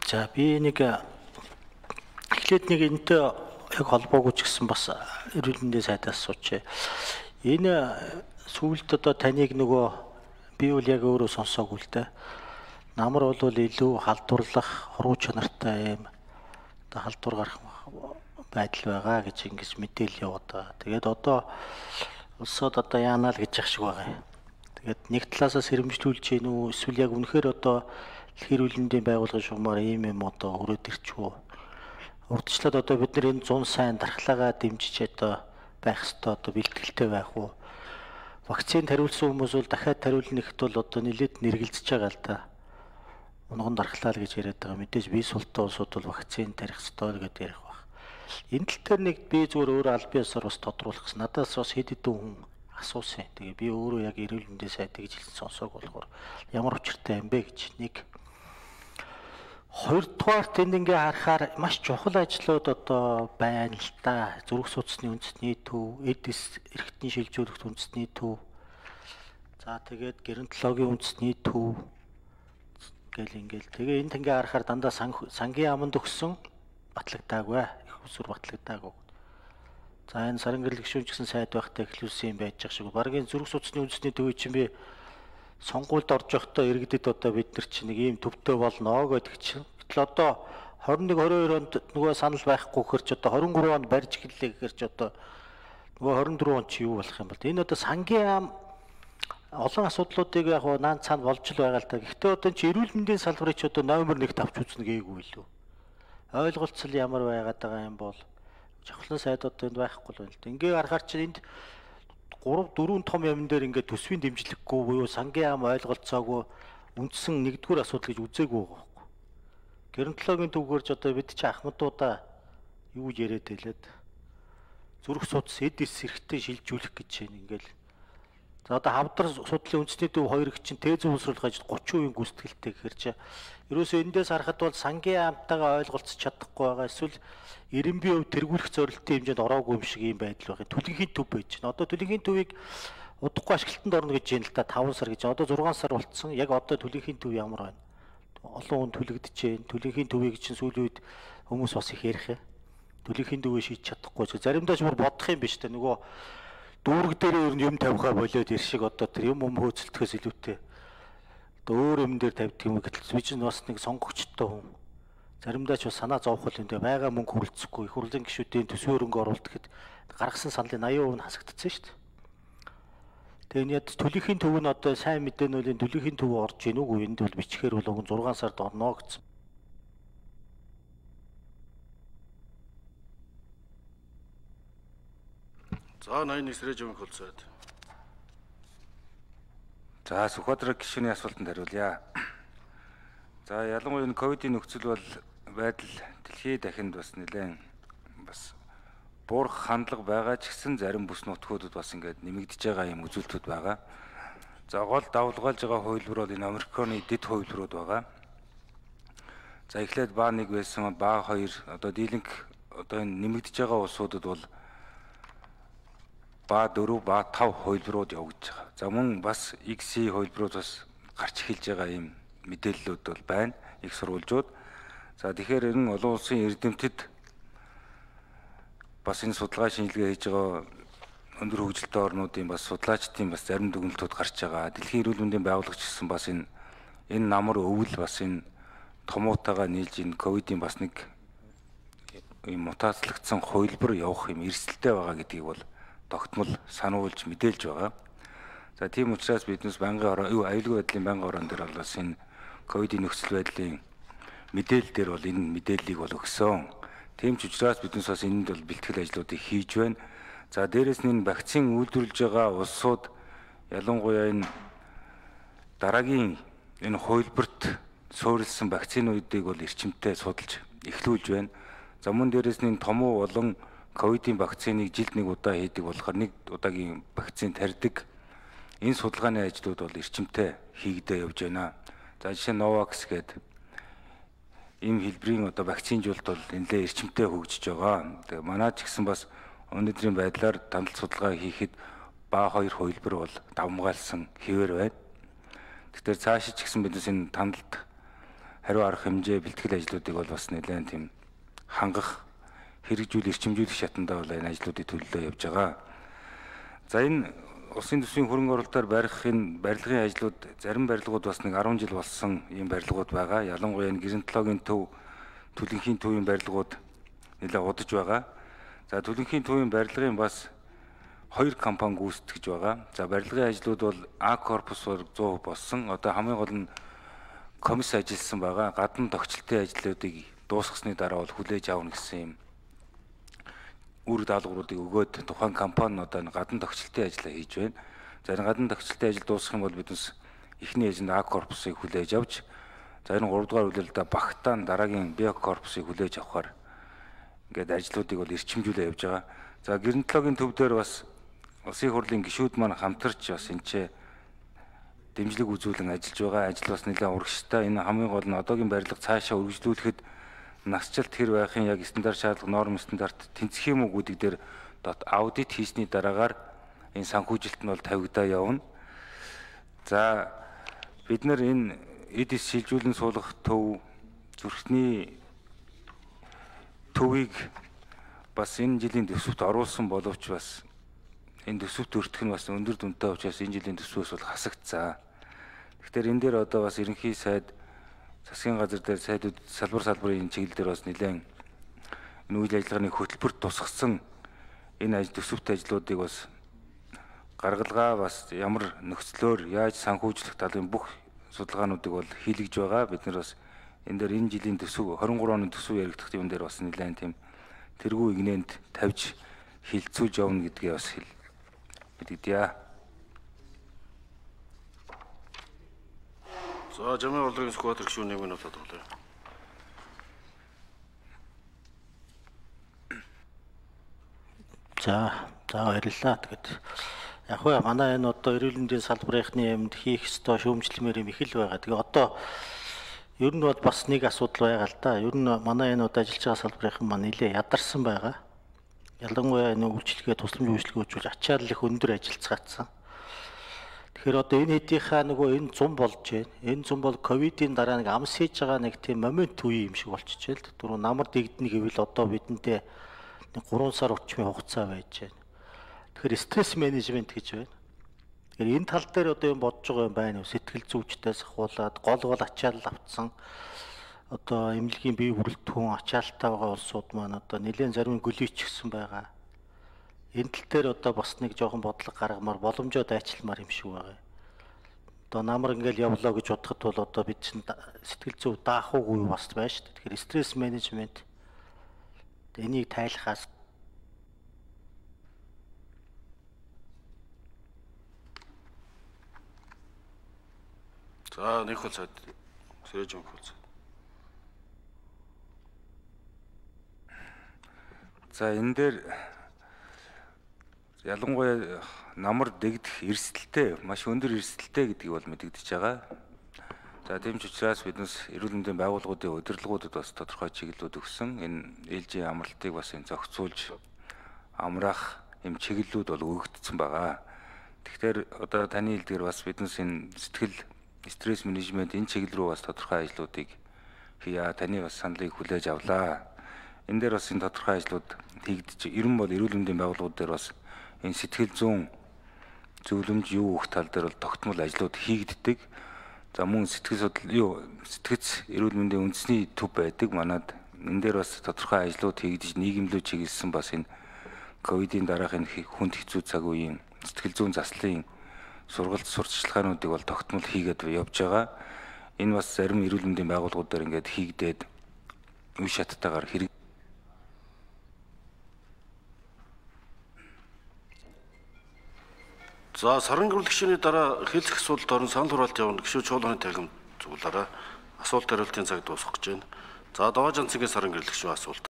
За би нэг эхлээд нэг энэтэй яг холбоогүй ч гэсэн бас эрүүл мэндийн сайдаас асуучих. Энэ сүүлд одоо таныг нөгөө би бол яг өөрөө сонсоогүй л дээ. Намар бол илүү халдварлах, хуруу чанартай юм одоо халдвар гарах байдал байгаа гэж ингэж мэдээлэл яваад байгаа. Тэгээд одоо улсууд одоо яанаа л гэж ах шиг байгаа юм. Тэгээд нэг талаасаа сэрэмжлүүлж гин үү эсвэл яг үнэхээр одоо эрүүл мэндийн байгууллагын шугамаар ийм юм одоо өрөөд ирчихв. Урдчлаад одоо бид нар энэ 100 сайн дархлаагаа дэмжиж одоо байх ёстой одоо бэлтгэлтэй байх уу? Вакцинд хариулсан хүмүүс бол дахиад хариулна гэхэд бол одоо нэлээд нэргэлзэж байгаа л да. Унган дархлаа л гэж яриад байгаа. Мэдээж бие султай улсууд бол вакцин тарих ёстой гэдэг ярих баг. Энэ тал дээр нэг би зүгээр өөрөө аль биесээр бас тодруулах гэсэн. Надаас бас хэд хэдэн хүн асуусан. Тэгээ би өөрөө яг эрүүл мэндийн сайд гэж хэлсэн сонсоог болохоор ямар учиртай юм бэ гэж нэг хоёрдугаар тэнд ингээ харахаар маш чухал ажлууд одоо байна л та. Зүрх судасны үндэсний төв, эдис эрхтний шилжүүлэгт үндэсний төв. За тэгээд геронтологийн үндэсний төв гэл ингээл. Тэгээ энд ингээ харахаар дандаа сангийн аманд өгсөн батлагдаагүй. Их усүр батлагдаагүй. За энэ саран гэрэл гишүүн гэсэн сайд байхтай эхлүүлсэн юм байж байгаа шиг. Баргийн зүрх судасны үндэсний төвийг чинь би сонгуульд орж явахдаа иргэдэд одоо бид нар чинь нэг ийм төвтэй болно гэдэг чинь. Гэтэл одоо 21 22 онд нөгөө санал байхгүй гэхэр ч одоо 23 онд барьж эхэллээ гэхэр ч одоо нөгөө 24 онд чи юу болох юм бол энэ одоо сангийн ам олон асуудлуудыг яг наан цаана болж л байгаа л да. Гэхдээ одоо чи эрүүл мэндийн салбарыг ч одоо номер 1 тавьж үзнэ гээгүй лөө. Ойлголцол ямар байгаад байгаа юм бол жавхлан сайдууд энд байхгүй л байна л да. Ингээ харахаар чи энд 3 4 том юм дээр ингээд төсвийн дэмжлэггүй буюу сангийн ам ойлголцоогүй үндсэн нэгдүгээр асуудал гэж үзээгүй байгаа байхгүй. Геронтологийн төвгөрж одоо бид чи ахмадуудаа юу яриад хэлээд зүрх судас эдис эрхтэн шилжүүлэх гэж байна ингээл. За одоо хавдар судлалын үндэсний төв 2 чинь тез уусруулах ажил 30% гүйцэтгэлтэй гэхэр чи ерөөсөө эндээс харахад бол сангийн амтайгаа ойлголцож чадахгүй байгаа эсвэл 90% тэргүүлэх зорилтын хэмжээнд ороогүй юм шиг юм байдал байгаа. Түлэнхийн төв байж байна. Одоо түлэнхийн төвийг удахгүй ашиглалтанд орно гэж байна л да 5 сар гэж. Одоо 6 сар болцсон. Яг одоо түлэнхийн төв ямар байна? Олон хүн түлэгдэж байна. Түлэнхийн төвийг чинь сүүлийн үед хүмүүс бас их ярих юм. Түлэнхийн төвөө шийдэж чадахгүй ч заримдаа ч бүр бодох юм биш үү? Нөгөө дүүрэг дээр ер нь юм тавихаа болоод ир шиг одоо тэр юм хөөцөлдөхөөс илүүтэй. Одоо өөр юм дээр тавьдаг юм гэтэл би чинь бас нэг сонгогчтой хүн. Заримдаа ч бас санаа зовхол юм дээ. Байга мөнгө хүрэлцэхгүй их хурлын гишүүдийн төсвийн хөрөнгө оруулалт гэхэд гаргасан саналын 80% нь хасагдсан шүү дээ. Тэгээ энэ яд түлэнхийн төв нь одоо сайн мэдээнүүлийн түлэнхийн төв орж ийн үгүй энд бол бичгээр бол өгөн 6 сард орно гэсэн. За 81 сэрэж өмнөх холцоод. За Сүхбаатар гишүүний асуултанд хариулъя. За ялангуяа энэ ковидын нөхцөл бол байдал дэлхийн дахинд бас нэлээд бас буурах хандлага байгаа ч гэсэн зарим бүс нутгуудад бас ингээд нэмэгдэж байгаа юм үзүүлэлтүүд байгаа. За гол давлгаалж байгаа хувилбар бол энэ Америкийн дэд хувилбарууд байгаа. За эхлээд баа 1 байсан баа 2 одоо дийлэнх одоо энэ нэмэгдэж байгаа улсуудад бол баа 4 баа 5 хувилбарууд явагдаж байгаа. За мөн бас XC хувилбарууд бас гарч эхэлж байгаа юм мэдээллүүд бол байна. Их сурвалжууд. За тэгэхээр энэ олон улсын эрдэмтэд бас энэ судалгаа шинжилгээ хийж байгаа өндөр хөгжилтэй орнуудын бас судлаачдын бас зарим дүгнэлтүүд гарч байгаа. Дэлхийн эрүүл мэндийн байгууллагч гэсэн бас энэ намар өвөл бас энэ томуутайгаа нийлж энэ ковидын бас нэг юм мутацлагдсан хувилбар явах юм эрсдэлтэй байгаа гэдгийг бол тогтмол сануулж мэдээлж байгаа. За тийм учраас биднес аюулгүй байдлын байнгын орон дээр бол бас энэ ковидын нөхцөл байдлын мэдээлэл дээр бол энэ мэдээллийг бол өгсөн. Тийм ч учраас биднес бас энд бол бэлтгэл ажлуудыг хийж байна. За дээрэс нь энэ вакцин үйлдвэрлэж байгаа улсууд ялангуяа энэ дараагийн энэ хувилбарт суурилсан вакцинуудыг бол эрчимтэй судалж эхлүүлж байна. За мөн дээрэс нь томуу болон ковидын вакциныг жилд нэг удаа хийдэг болохоор нэг удаагийн вакцин тарьдаг. Энэ судалгааны ажлууд бол эрчимтэй хийгдээ явж байна. За жишээ нь Novavax гэдэг ийм хэлбэрийн одоо вакцинжуулалт бол нэлээд эрчимтэй хөгжиж байгаа. Тэгээ манай ч гэсэн бас өнөөдрийн байдлаар тандал судалгаа хийхэд баа 2 хувилбар бол давмгаалсан хэвээр байна. Тэгэхээр цаашид ч гэсэн биднес энэ тандалд хариу арга хэмжээ бэлтгэл ажлуудыг бол бас нэлээд тийм хангах, хэрэгжүүл, эрчимжүүлэх шатандаа бол энэ ажлуудыг төлөвлөө явж байгаа. За энэ улсын төсвийн хөрөнгө оруулалтаар барихын барилгын ажлууд зарим барилгууд бас нэг 10 жил болсон ийм барилгууд байгаа. Ялангуяа энэ гэрэнтологийн төв, төлөнхийн төвийн барилгууд нэлээд удаж байгаа. За төлөнхийн төвийн барилгын бас 2 компани гүйцэтгэж байгаа. За барилгын ажлууд бол А корпус 100% болсон. Одоо хамгийн гол нь комисс ажилласан байгаа. Гадна тогтчлтын ажлуудыг дуусгасны дараа бол хүлээж авна гэсэн юм үр даалгавруудыг өгөөд тухайн компани одоо гадна тогтчлтын ажлаа хийж байна. За энэ гадна тогтчлтын ажил дуусгах юм бол биднес эхний эзэнд А корпусыг хүлээж авч, за энэ 3 дугаар үйлдэлдээ багтаан дараагийн Б корпусыг хүлээж авахар ингээд ажлуудыг бол эрчимжүүлээ явж байгаа. За гэрэнтологийн төв дээр бас улсын хурлын гишүүд маань хамтарч бас энэ дэмжлэг үзүүлэн ажиллаж байгаа. Ажил бас нэлээд урагштай. Энэ хамгийн гол нь одоогийн барилга цаашаа үргэлжлүүлэхэд насжилт хэр байхын яг стандарт шаардлага, норм стандарт тэнцэх юм уу гэдэг дээр аудит хийсний дараагаар энэ санхүүжилт нь бол тавигдаа явна. За бид нар энэ эдис шилжүүлэн суулгах төв, зүрхний төвийг бас энэ жилийн төсөвт оруулсан боловч бас энэ төсөвт өртөх нь бас өндөр дүнтэй учраас энэ жилийн төсвөөс бол хасагдсан. Тэгэхээр энэ дээр одоо бас ерөнхий сайд, засгийн газар дээр сайдууд салбарын чиглэл дээр бас нэлээд энэ үйл ажиллагааны хөтөлбөрт тусгасан энэ төсөвт ажлуудыг бас гаргалгаа бас ямар нөхцлөөр яаж санхүүжлэх талын бүх судалгаануудыг бол хийлгэж байгаа. Бид нар бас энэ дээр энэ жилийн төсөв 23 оны төсөв яригдах юм дээр бас нэлээд тийм тэргүй игнэнд тавьж хилцүүлж явна гэдгээ бас мэдгийдээ. За жамын улирын сквадрын гишүүн нэмийн утаад болоо. За баярлалаа. Тэгэд яг хөө манай энэ одоо эрүүл мэндийн салбарынхны юмд хийх ёстой шүүмжлэмээр юм их л байгаа. Тэгээ одоо ер нь бол бас нэг асуудал байгаа л да. Ер нь манай энэ одоо ажиллаж байгаа салбарынхан маань нэлээ ядарсан байгаа. Ялангуяа энэ үйлчлэгээ, тусламж үйлчлэгөөчүүл ачаал их өндөр ажиллацгаацсан. Тэгэхээр одоо энэ хэдийнхаа нөгөө энэ зам болж байна. Энэ зам бол ковидын дараа нэг амс хийж байгаа нэг тийм момент үе юм шиг болчихжээ л. Түрүү намар дэгдэнэ гэвэл одоо бидэнтэй нэг 3 сар орчмын хугацаа байж байна. Тэгэхээр стресс менежмент гэж байна. Тэгэхээр энэ тал дээр одоо юм бодож байгаа юм байна уу? Сэтгэл зүйчдээс ахуулаад гол ачаал авцсан одоо эмнэлгийн бие бүрэлдэхүүн ачаалттай байгаа улсууд маань одоо нэлээд зарим гөлийчгсэн байгаа. Энэ тал дээр одоо бас нэг жоохон бодлого гаргамаар боломжоо дайчилмаар юм шиг байгаа. Одоо намар ингээл явлаа гэж бодоход бол одоо бид чинь сэтгэл зүй даах уугүй бас байна шүү дээ. Тэгэхээр стресс менежмент энийг тайлахаас За нэг хөл цаад сэрэж юм хөл. За энэ дээр ялангуяа намар дэгдэх эрсдэлтэй, маш өндөр эрсдэлтэй гэдгийг бол мэдэгдэж байгаа. За тийм ч учраас биднес эрүүл мэндийн байгууллагуудын удирдлагуудад бас тодорхой чиглэлүүд өгсөн. Энэ ээлжийн амралтыг бас энэ зохицуулж амраах юм чиглэлүүд бол өгөгдсөн байгаа. Тэгэхээр одоо таны хэлдгээр бас биднес энэ стресс менежмент энэ чиглэл рүү бас тодорхой ажлуудыг хийя. Таны бас саналыг хүлээж авлаа. Энэ дээр бас энэ тодорхой ажлууд хийгдэж, ер нь бол эрүүл мэндийн байгууллагууд дээр бас энэ сэтгэл зүйн зөвлөмж юу өгөх тал дээр бол тогтмол ажлууд хийгддэг. За мөн сэтгэц эрүүл мэндийн үндэсний төв байдаг. Манад энэ дээр бас тодорхой ажлууд хийгдэж, нийгэмлүү чиглэсэн бас энэ ковидын дараах энэ хүнд хэцүү цаг үеийн сэтгэл зүйн заслын сургалт сурталчилгаануудыг бол тогтмол хийгээд явж байгаа. Энэ бас зарим эрүүл мэндийн байгууллагууд дээр ингээд хийгдээд үе шаттайгаар хэрэг. За сарын гэрэл гишүүний дараа хэлцэх асуудалд орон санал хураалт явна. Гишүү чуулганы тахим зөвлөөрэй. Асуулт хариултын цаг дуусах гэж байна. За Довоо Жанцгийн сарын гэрэл гишүү асуулт.